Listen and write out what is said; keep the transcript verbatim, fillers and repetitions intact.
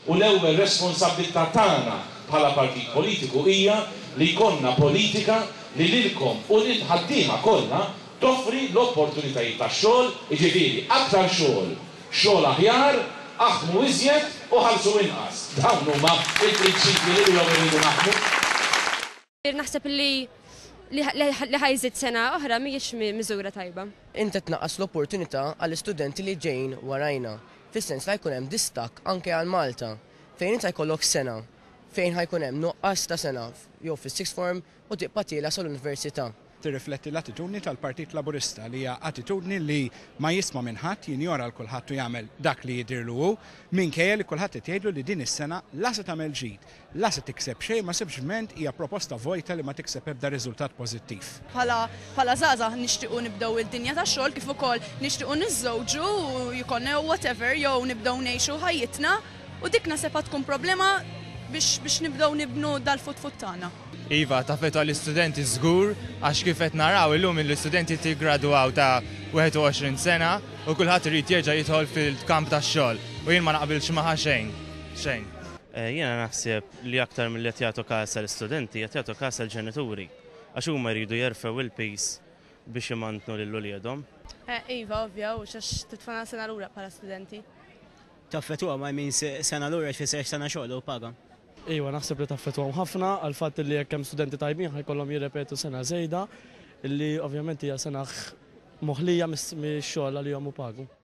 U l-ewwel responsabbiltà tagħna bħala partit politiku hija li jkollna politika li lilkom u lill-ħaddiema kollha toffri l-opportunitajiet tax-xogħol, jiġifieri aktar xogħol, xogħol aħjar, aħdmu iżjed u ħallsu inqas. Dawn huma l-prinċipji li bihom irridu naħdmu. Naħseb li li ħa jżid sena oħra mhijiex miżura tajba. Inti tnaqqas l-opportunità għall-istudenti li ġejjin warajna, fis-sens li jkun hemm distakk anke għal Malta, fejn inta jkollok sena, fejn ħa jkun hemm nuqqas ta' sena jew fis-sixth form u tibqa' tiela' sal-università. Tirrifletti l-attitudni tal-Partit Laburista, li hija attitudni li ma jisma' minn ħadd, jinjora l kulħadd u jagħmel dak li jidirlu hu, minkejja li kulħadd qed jgħidlu li din is-sena la se tagħmel ġid, la se tikseb xejn, ma sempliċement hija proposta vojta li ma tikseb ebda riżultat pożittiv. Bħala bħala żgħażagħ nixtiequ nibdew id-dinja tax-xogħol, kif ukoll nixtiequ niżżewġu u jkollna whatever, jew nibdew ngħixu ħajjitna, u dik naħseb tkun problema biex biex nibdew nibnu dal-futur tagħna. Iva, taffettwa l-istudenti żgur, għax kif qed naraw illum l-istudenti jiggradwaw ta' wieħed u għoxrin sena u kulħadd irid jerġa' jidħol fil-kamp tax-xogħol u jien ma naqbilx magħha xejn. Xejn. Eh, jiena naħseb li aktar milli qed jagħtu każ l-istudenti, qed jagħtu każ l-ġenituri. Għax huma jridu jerfgħu il-piż biex imantnu lil uliedhom. Eh, iva, ovvja, u xax titfana sena lura bħala studenti. Taffettwa ma jmin sena lura tfisser sena xogħol u paga. Iva, naħseb li taffettwahom ħafna għal fatt li jekk hemm studenti tajbin ħa jkollhom jirrepetu sena żejda, illi ovvjament hija sena moħlija mix-xogħol li jom u pagu.